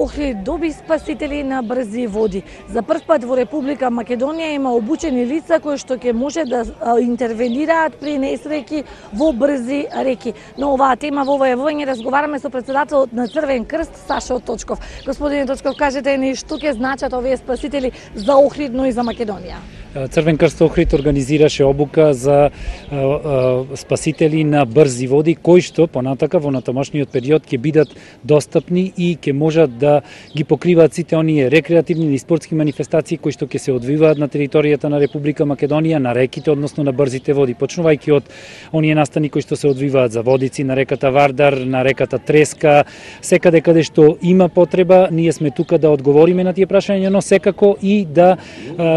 Охрид доби спасители на брзи води. За прв пат во Република Македонија има обучени лица кои што ќе може да интервенираат при несреќи во брзи реки. Но оваа тема во ова јавување разговараме со претседателот на Црвен крст Сашо Точков. Господине Точков, кажете ни што ќе значат овие спасители за Охрид, но и за Македонија? Црвен крст Охрид организираше обука за спасители на брзи води, кои што понатака во натамошниот период ќе бидат достапни и ќе можат да ги покриваат сите оние рекреативни и спортски манифестации кои што ќе се одвиваат на територијата на Република Македонија, на реките, односно на брзите води. Почнувајќи од оние настани кои што се одвиваат за водици на реката Вардар, на реката Треска, секаде каде што има потреба, ние сме тука да одговориме на тие прашања, но секако и да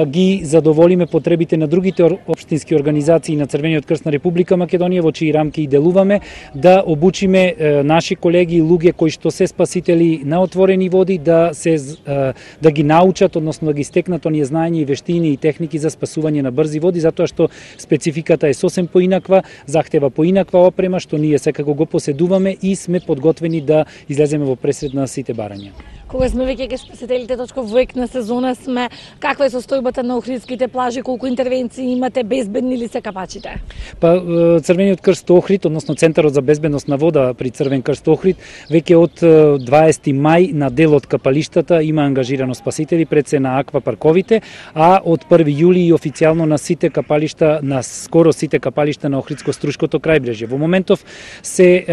ги задоволиме потребите на другите општински организации на Црвениот крст на Република Македонија, во чии рамки и делуваме, да обучиме наши колеги и луѓе кои што се спасители на отворени води, да ги научат, односно да ги стекнат оние знаења и вештини и техники за спасување на брзи води, затоа што спецификата е сосем поинаква, захтева поинаква опрема, што ние секако го поседуваме и сме подготвени да излеземе во пресред на сите барања. Кога сме веќе ке спасителите точка во ек на сезона сме, каква е состојбата на охридските плажи, колку интервенции имате, безбедни ли се капачите? Па Црвениот крст Охрид, односно Центарот за безбедност на вода при Црвен крст Охрид, веќе од 20 мај на дел од капалиштата има ангажирано спасители пред се на аквапарковите, а од 1 јули и официјално на сите капалишта, на скоро сите капалишта на Охридско-Струшкото крајбрежје. Во моментов се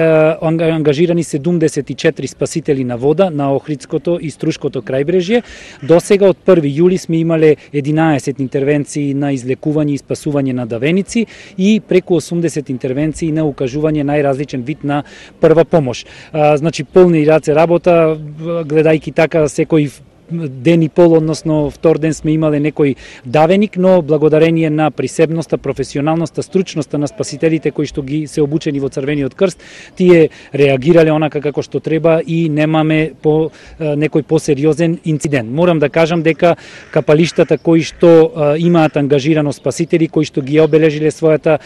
ангажирани 74 спасители на вода на Охридското и Струшкото крајбрежје. До сега од 1 јули сме имале 11 интервенции на излекување и спасување на давеници и преку 80 интервенции на укажување најразличен вид на прва помош. Значи полни раце работа, гледајќи така секој ден и пол, односно втор ден сме имале некој давеник, но благодарение на присебноста, професионалноста, стручноста на спасителите кои што ги се обучени во Црвениот крст, тие реагирале онака како што треба и немаме некој посериозен инцидент. Морам да кажам дека капалиштата кои што имаат ангажирано спасители, кои што ги обележиле својата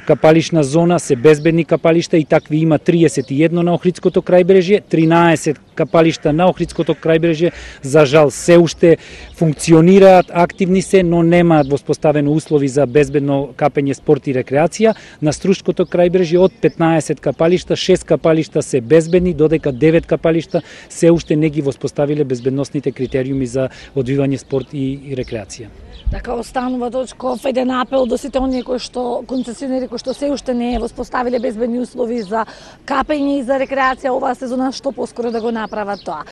капалишна зона, се безбедни капалишта и такви има 31 на Охридското крајбрежје, 13 капалишта на Охридското крајбрежје за жал се уште функционираат, активни се, но немаат воспоставено услови за безбедно капење, спорт и рекреација. На Струшкото крајбрежје од 15 капалишта, 6 капалишта се безбедни, додека 9 капалишта се уште не ги воспоставиле безбедносните критериуми за одвивање спорт и рекреација. Така останува Точков еден апел до сите оние кои што концесионери кои што се уште не воспоставиле безбедни услови за капење и за рекреација оваа сезона, што поскоро да го направат тоа.